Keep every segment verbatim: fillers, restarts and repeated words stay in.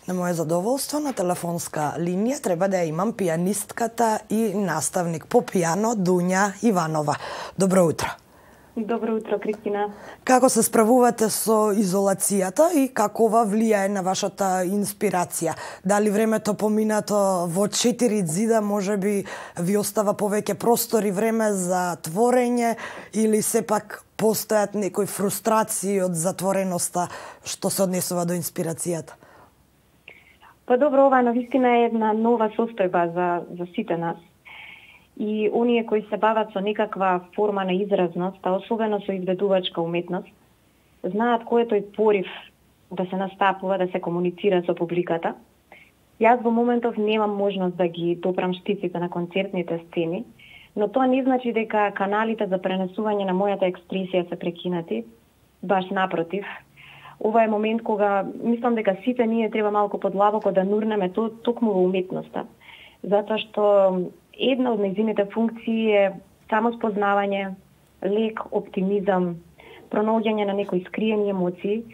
На моje задоволство на телефонска линија треба да ја имам пијанистката и наставник по пијано Дуња Иванова. Добро утро. Добро утро, Кристина. Како се справувате со изолацијата и како ова влијае на вашата инспирација? Дали времето поминато во четири ѕида можеби ви остава повеќе простор и време за творење или сепак постојат некои фрустрации од затвореноста што се однесува до инспирацијата? Па добро, ова навистина е една нова состојба за, за сите нас. И оние кои се бават со некаква форма на изразност, а особено со изведувачка уметност, знаат кој е тој порив да се настапува, да се комуницира со публиката. Јас во моментов немам можност да ги допрам штиците на концертните сцени, но тоа не значи дека каналите за пренесување на мојата експресија се прекинати. Баш напротив, ова е момент кога мислам дека сите ние треба малку подлабоко да нурнеме то, токму во уметноста, затоа што една од нејзините функции е самоспознавање, лек оптимизам, пронаоѓање на некои скриени емоции,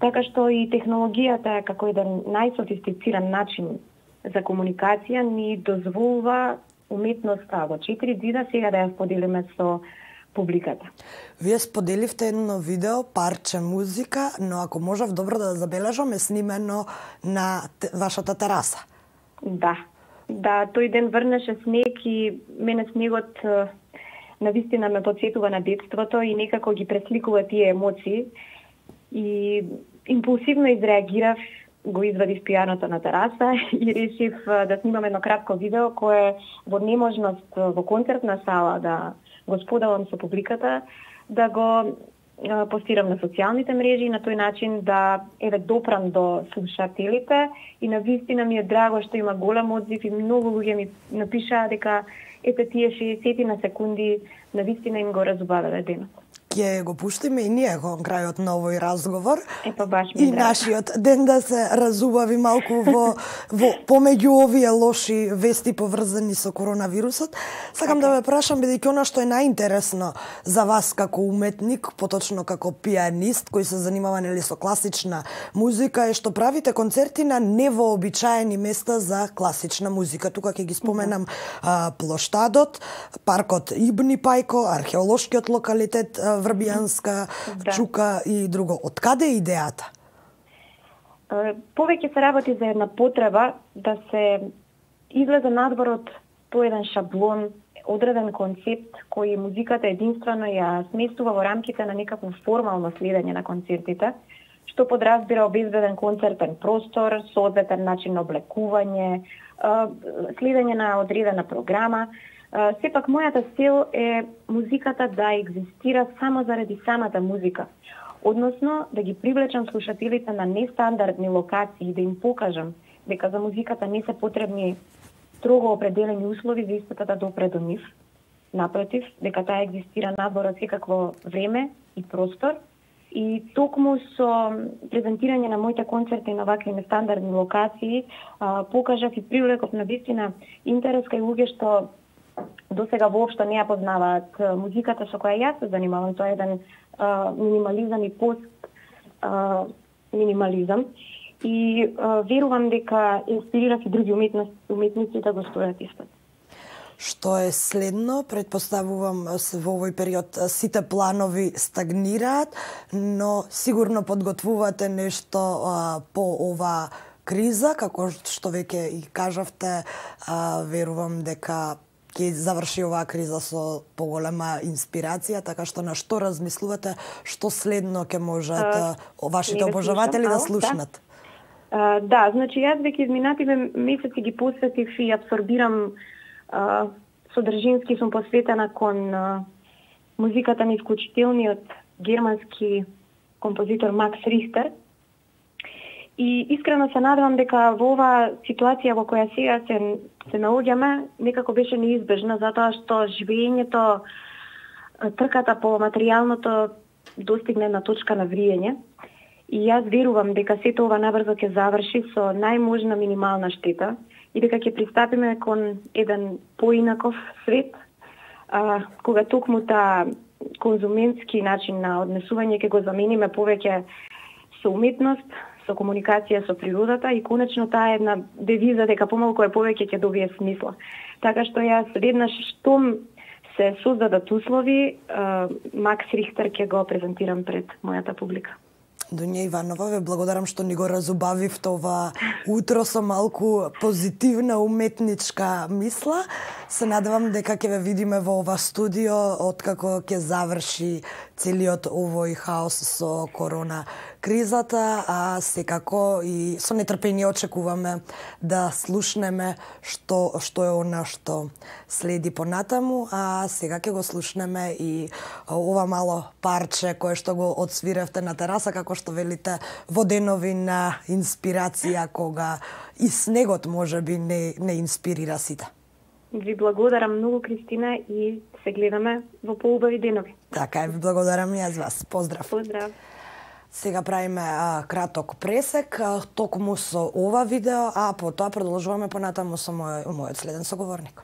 така што и технологијата е како еден најсофистициран начин за комуникација ни дозволува уметноста во четири ѕида сега да ја споделиме со публиката. Вие споделивте едно видео, парче музика, но ако можев добро да забележам, е снимено на вашата тераса. Да. Да, тој ден врнеше снег и мене снегот навистина ме потсетува на детството и некако ги пресликува тие емоции. И импулсивно изреагирав, го извадив пијаното на тераса и решив да снимам едно кратко видео кое во неможност во концертна сала да го споделам со публиката, да го постирам на социјалните мрежи и на тој начин да еве допрам до слушателите и навистина ми е драго што има голем одзив и многу луѓе ми напишаа дека ете тие шеесет на секунди навистина им го разубавиле денот. Ќе го пуштиме и ние кон крајот на овој разговор. Епа баш ми и драго. Нашиот ден да се разубави малку во, во помеѓу овие лоши вести поврзани со коронавирусот. Сакам okay. да ве прашам, бидејќи она што е најинтересно за вас како уметник, поточно како пијанист кој се занимава нели со класична музика, е што правите концерти на невообичаени места за класична музика. Тука ќе ги споменам mm-hmm. а, Плоштадот, паркот Ибни Пајко, археолошкиот локалитет Врбијанска, да. Чука и друго. Од каде е идејата? Повеќе се работи за една потреба да се излезе надвор од тој еден шаблон, одреден концепт кој музиката единствено ја сместува во рамките на некакво формално следење на концертите, што подразбира обезбеден концертен простор, соодветен начин на облекување, следење на одредена програма. Uh, сепак, мојата цел е музиката да екзистира само заради самата музика. Односно, да ги привлечам слушателите на нестандардни локации и да им покажам дека за музиката не се потребни строго определени услови за истата да допре до нив. Напротив, дека таа екзистира надвор од секакво време и простор. И токму со презентирање на моите концерти на вакви нестандардни локации, uh, покажав и привлеков на вистина интерес кај луѓе што до сега воопшто не ја познаваат музиката со која јас се занимавам. Тоа е еден а, минимализам и пост а, минимализам. И а, верувам дека инспирирав и други уметници, уметници да го стојат исто. Што е следно? Предпоставувам во овој период сите планови стагнираат, но сигурно подготвувате нешто а, по ова криза, како што веќе и кажавте, а, верувам дека ќе заврши оваа криза со поголема инспирација, така што на што размислувате, што следно ќе можат uh, вашите обожаватели да слушнат? Да, uh, да, значи јас веќе изминативе месеци ги посветив и абсорбирам uh, содржински сум посветена кон uh, музиката на исклучителниот германски композитор Макс Рихтер. И искрено се надевам дека во оваа ситуација во која сега се, се наоѓаме, некако беше неизбежна, затоа што живењето, трката по материјалното достигне на точка на вриење. И јас верувам дека сето ова набрзо ќе заврши со најможна минимална штета и дека ќе пристапиме кон еден поинаков свет, а, кога токму таа конзументски начин на однесување ќе го замениме повеќе со уметност, со комуникација со природата и конечно таа една девиза дека помалку е повеќе ќе добие смисла. Така што јас веднаш штом се создадат услови, Макс Рихтер ќе го презентирам пред мојата публика. Дуња Иванова, ве благодарам што ни го разубавивте ова утро со малку позитивна уметничка мисла. Се надевам дека ќе ве видиме во ова студио откако ќе заврши целиот овој хаос со корона кризата, а секако и со нетрпение очекуваме да слушнеме што што е она што следи понатаму, а сега ќе го слушнеме и ова мало парче кое што го отсвиревте на тераса, како што велите, во денови на инспирација, кога и снегот можеби не не инспирира сите. Ви благодарам многу, Кристина, и се гледаме во поубави денови. Така е, ви благодарам и јас вас. Поздрав. Поздрав. Сега правиме а, краток пресек, а, токму со ова видео, а потоа продолжуваме понатаму со мој, мојот следен соговорник.